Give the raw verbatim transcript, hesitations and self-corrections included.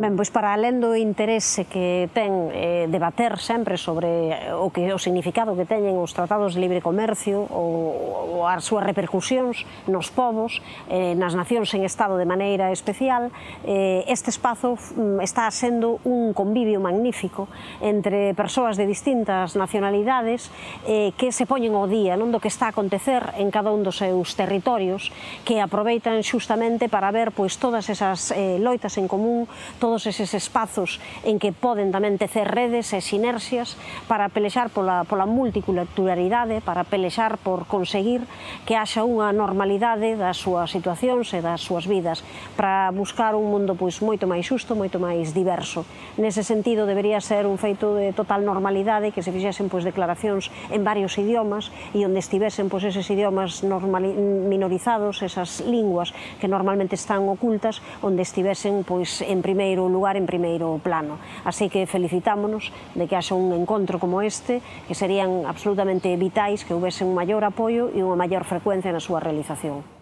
Ben, pois para alén do interese que ten eh, debater sempre sobre o que o significado que teñen os tratados de libre comercio ou, ou as súas repercusións nos povos, eh, nas nacións en estado de maneira especial, eh, este espazo está sendo un convivio magnífico entre persoas de distintas nacionalidades eh, que se poñen ao día non do que está a acontecer en cada un dos seus territorios, que aproveitan xustamente para ver pois todas esas eh, loitas en común, todos eses espazos en que poden tamén tecer redes e sinerxias para pelexar pola, pola multiculturalidade, para pelexar por conseguir que haxa unha normalidade das súas situacións e das súas vidas, para buscar un mundo pois moito máis xusto, moito máis diverso. Nese sentido, debería ser un feito de total normalidade que se fixesen pois declaracións en varios idiomas e onde estivesen pois eses idiomas minorizados, esas linguas que normalmente están ocultas, onde estivesen pois en primeiro lugar, en primeiro plano. Así que felicitámonos de que haxa un encontro como este, que serían absolutamente vitais que houvese un maior apoio e unha maior frecuencia na súa realización.